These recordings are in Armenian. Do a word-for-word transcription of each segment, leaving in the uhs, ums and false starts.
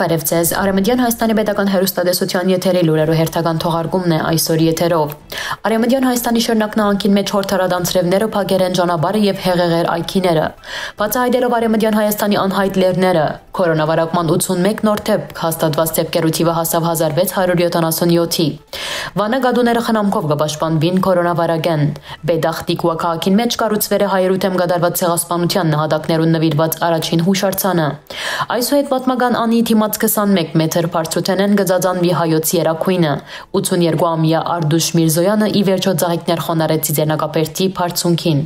Բարև ձեզ, Արևմտյան Հայաստանի պետական հեռուստատեսության եթերի լուրերու հերթական թողարկումն է այսօր եթերով։ Արևմտյան Հայաստանի շրջանակնահանգին մեջ հորդարադանցրևները փակեր են ճանապարհը եւ հեղեղեր այգիները։ Բացահայտելով Արևմտյան Հայաստանի անհայտ լեռները, կորոնավիրուսի ութսունմեկ նոր դեպք հաստատված դեպքերու թիվը հասավ հազար վեց հարյուր յոթանասունյոթի։ Վանա գադուները խնամքով կպաշտպանվին կորոնավիրուսին։ Բեդախտիկ քաղաքին մեջ կառուցվեր է հայերու դեմ կատարված ցեղասպանության նահատակներուն նվիրված առաջին հուշարձանը։ Այսուհետ պատմական անի դիմաց քսանմեկ մետր բարձրութեն են գծածանվի հայոց երակույնը։ ութսուներկուամյա Արդուշ Միրզոյանը ի վերջո ծաղիկներ խոնարեց Ծիծեռնակապերտի բարձունքին։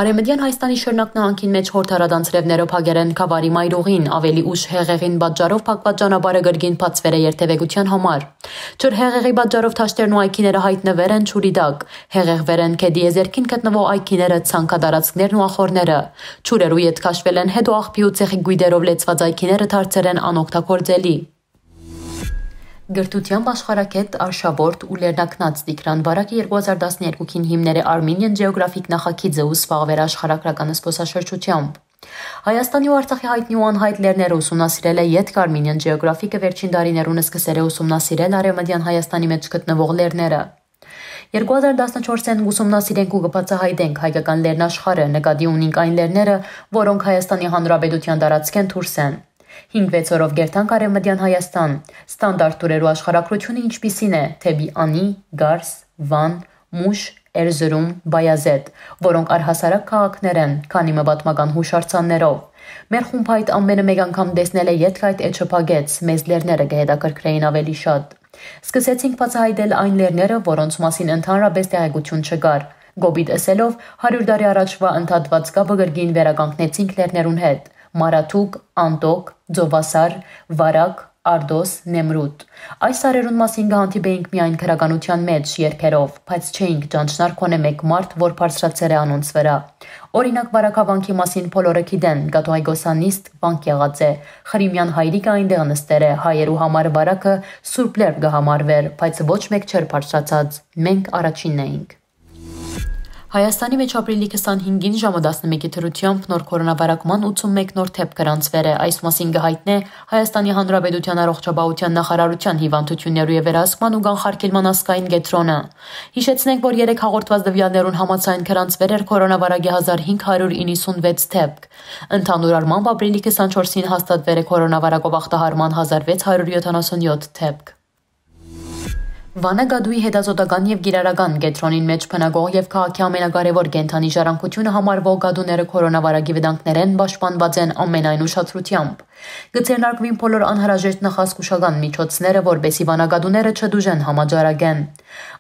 Արևմտյան Հայաստանի շրջանակնահանգին մեջ հորդարադանցրևները փակեր են Քավարի մայրուղին, ավելի ուշ հեղեղին պատճառով փակված ճանապարհը գրգին բացվեր է երթևեկության համար։ Ջր հեղեղի պատճառով թաշտերն ու այգիները հայտնվեր են ջուրի տակ, հեղեղվեր են Քեդիեզերքին գտնվող այգիները, ցանկատարածքներն ու ախորները։ Ջուրերու ետ քաշվել են հետո աղբի ու ցեխի գույդերով լեցված այգիները դարձել են անօգտագործելի։ Գրթությամբ աշխարհակետ արշավորդ ու լեռնակնած Տիգրան Բարակը երկու հազար տասներկուին հիմներ է Armenian Geographic նախագիծը ու զբաղվեր աշխարհագրական զբոսաշրջությամբ։ Հայաստանի ու Արցախի հայտնի ու անհայտ լեռները ուսումնասիրել է ետք Armenian Geographic-ը վերջին տարիներուն սկսել է ուսումնասիրել Արևմտյան Հայաստանի մեջ գտնվող լեռները։ երկու հազար տասնչորսին ուսումնասիրենք ու կբացահայտենք հայկական լեռնաշխարհը, նկատի ունենք այն լեռները, որոնք Հայաստանի Հանրապետության տարածքեն դուրս են։ հինգ-վեց օրով գերտանք Արևմտյան Հայաստան, ստանդարտ տուրերու աշխարհակրությունը ինչպիսին է, թեպի Անի, Գարս, Վան, Մուշ, Էրզրում, Բայազետ, որոնք առհասարակ քաղաքներ են, քանի մը պատմական հուշարձաններով։ Մեր խումբը այդ ամենը մեկ անգամ տեսնել է ետք այդ էջը փագեց, մեզ լեռները կհետաքրքրեին ավելի շատ։ Սկսեցինք բացահայտել այն լեռները, որոնց մասին ընդհանրապես տեղեկություն չկար։ Գոբիտ ասելով հարյուր տարի առաջվա ընդհատված կապը գրգին վերականգնեցինք լեռներուն հետ։ Մարաթուկ, Անտոկ, Ձովասար, Վարակ, Արդոս, Նեմրուտ։ Այս սարերուն մասին կհանդիպեինք միայն քրականության մեջ երգերով, բայց չէինք ճանչնար կոնե մեկ մարդ, որ բարձրացել է անոնց վրա։ Օրինակ Վարակավանքի մասին բոլորը գիտեն, Գաթոհայգոսանիստ վանք եղած է, Խրիմյան հայրիկը այնտեղ նստեր է, հայերու համար Վարակը Սուրբ Լեռ կհամարվեր, բայց ոչ մեկ չէր բարձրացած, մենք առաջինն էինք։ Հայաստանի մեջ ապրիլի քսանհինգին ժամը տասնմեկի դրությամբ նոր կորոնավիրուսի ութսունմեկ նոր դեպք գրանցվել է, այս մասին կհայտնե Հայաստանի Հանրապետության առողջապահության նախարարության հիվանդություններու եւ վերահսկման ու կանխարգելման ազգային կենտրոնը։ Հիշեցնենք, որ երեք հաղորդված տվյալներուն համաձայն գրանցվել էր կորոնավիրուսի հազար հինգ հարյուր իննսունվեց դեպք։ Ընդհանուր առմամբ ապրիլի քսանչորսին հաստատվել է կորոնավիրուսով ախտահարման հազար վեց հարյուր յոթանասունյոթ դեպք։ Վանա գադուի հետազոտական եւ գիրարական կենտրոնին մեջ բնակող եւ քաղաքի ամենակարևոր կենթանի ժառանգությունը համարվող գադուները կորոնավիրուսի վտանգներեն պաշտպանված են ամենայն ուշադրությամբ։ Գծերնարկվին բոլոր անհրաժեշտ նախազգուշական միջոցները, որբեսի վանագադուները չդուժեն համաճարակեն։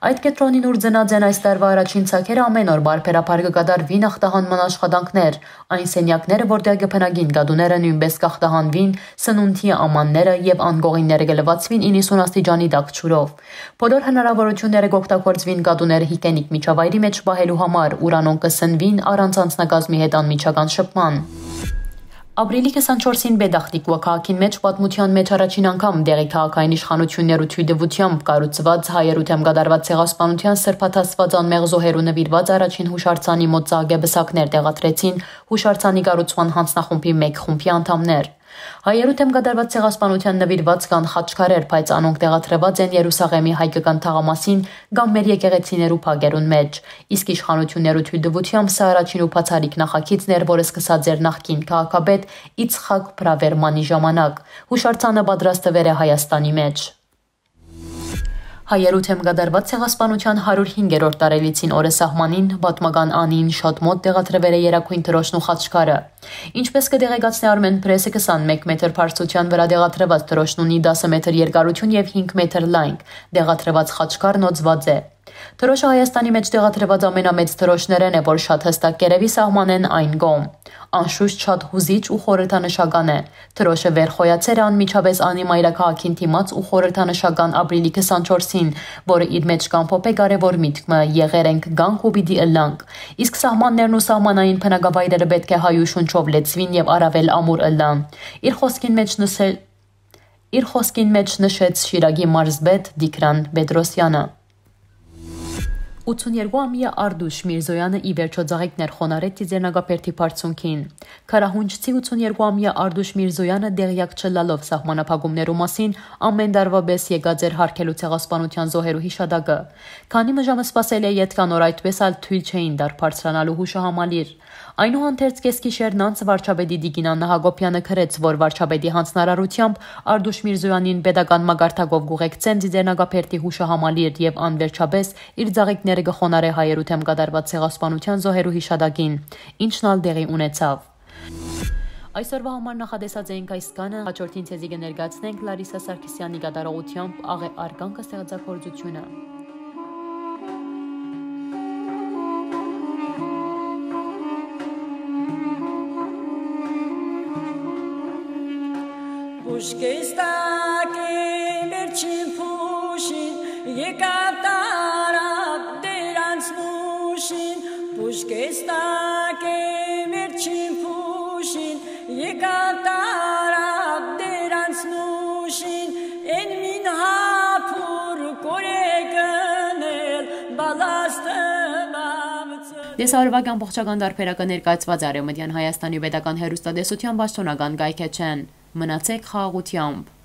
Այդ կենտրոնին ուր ծնած են այս տարվա առաջին ցակերը ամեն օր բարբերաբար կկատարվին ախտահանման աշխատանքներ, այն սենյակները, որտեղ կբնակին գադուները նույնպես կախտահանվին, սնունդի ամանները եւ անգողինները կլվացվին իննսուն աստիճանի տակ ջուրով։ Բոլոր հնարավորությունները կօգտագործվին գադուները հիգիենիկ միջավայրի մեջ պահելու համար, ուրանոն կսնվին առանց անձնակազմի հետ անմիջական շփման։ Ապրիլի քսանչորսին Բեդախտիկ քաղաքին մեջ պատմության մեջ առաջին անգամ դեղի քաղաքային իշխանություններու թույլտվությամբ կառուցված հայերու դեմ կատարված ցեղասպանության սրբաթասված անմեղ զոհերու նվիրված առաջին հուշարձանի մոտ ծաղկեբսակներ տեղադրեցին հուշարձանի կառուցման հանձնախումբի մեկ խումբի անդամներ։ Հայերու դեմ կատարված ցեղասպանության նվիրված կան խաչքարեր, բայց անոնք տեղադրված են Երուսաղեմի հայկական թաղամասին կամ մեր եկեղեցիներու փագերուն մեջ։ Իսկ իշխանություններու թույլտվությամբ սա առաջին ու բացառիկ նախագիծն էր, որը սկսած էր նախկին քաղաքապետ Իցխակ Բրավերմանի ժամանակ։ Հուշարձանը պատրաստվել է Հայաստանի մեջ։ Հայերու դեմ կատարված ցեղասպանության հարյուր հինգերորդ տարելիցին օրը սահմանին պատմական անին շատ մոտ տեղադրվել է երակույն դրոշն ու խաչքարը։ Ինչպես կտեղեկացնի Armen Press-ը քսանմեկ մետր բարձրության վրա տեղադրված դրոշն ունի դասը մետր երկարություն եւ հինգ մետր լայնք, տեղադրված խաչքարն օծված է։ Դրոշը Հայաստանի մեջ տեղադրված ամենամեծ դրոշներն է, որ շատ հստակ կերևի սահմանեն այն կողմ։ Անշուշտ շատ հուզիչ ու խորհրդանշական է։ Դրոշը վերխոյացել է անմիջապես անի մայրաքաղաքին դիմաց ու խորհրդանշական ապրիլի քսանչորսին, որը իր մեջ կամփոփ է կարևոր միտքը եղեր ենք գանք ու պիտի ըլլանք։ Իսկ սահմաններն ու սահմանային բնակավայրերը պետք է հայու շունչով լեցվին եւ առավել ամուր ըլլան։ Իր խոսքին մեջ նշել Իր խոսքին մեջ նշեց Շիրագի մարզպետ Տիգրան Պետրոսյանը։ ութսուներկուամյա Արդուշ Միրզոյանը ի վերջո ծաղիկներ խոնարեց Ծիծեռնակապերտի բարձունքին։ Քարահունչցի ութսուներկուամյա Արդուշ Միրզոյանը դեղյակ չլալով սահմանափակումներու մասին ամեն դարվա պես եկած էր հարկելու ցեղասպանության զոհերու հիշադակը։ Քանի մժամը սպասել է յետքան օր այդպես ալ թույլ չէին դար բարձրանալու հուշահամալիր։ Այնուհանդերձ կեսգիշերն անց վարչապետի Տիգին Աննա Հակոբյանը քրեց, որ վարչապետի հանձնարարությամբ Արդուշ Միրզոյանին pedagogan մագարտակով գուղեկցեն Ձիձեռնագափերտի հուշահամալիր եւ անվերջապես իր ծաղիկները կխոնարե հայերու թեմ կատարված ցեղասպանության զոհերու հիշադակին, ինչն ալ դեղի ունեցավ։ Այսօրվա համար նախադեսած էինք այս կանը, հաջորդին ցեզի կներկայացնենք Լարիսա Սարգսյանի կատարողությամբ աղե արգանքը ստեղծագործությունը։ Pushkestake merchim pushin yekatarab derans mushin Pushkestake merchim pushin yekatarab derans mushin en min hapur koreganel balastamam Դեսարվական փոխչական դարբերակը ներկայացված Արևմտյան Հայաստանի պետական հեռուստատեսության պաշտոնական կայքեչեն։ Մնացեք խաղաղությամբ։